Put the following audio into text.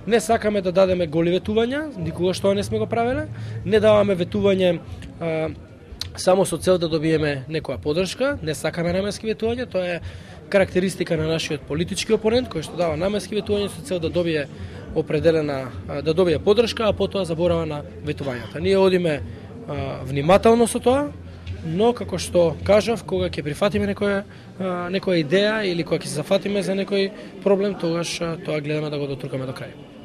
Не сакаме да дадеме голи ветувања, никогаш тоа не сме го правеле. Не даваме ветување само со цел да добиеме некоја подршка, не сакаме наменски ветувања, тоа е карактеристика на нашиот политички опонент кој што дава наменски ветувања со цел да добие да добие подршка, а потоа заборава на ветувањата. Ние одиме внимателно со тоа, но како што кажав, кога ќе прифатиме некоја идеја или кога ќе се зафатиме за некој проблем, тогаш тоа гледаме да го дотрукаме до крај.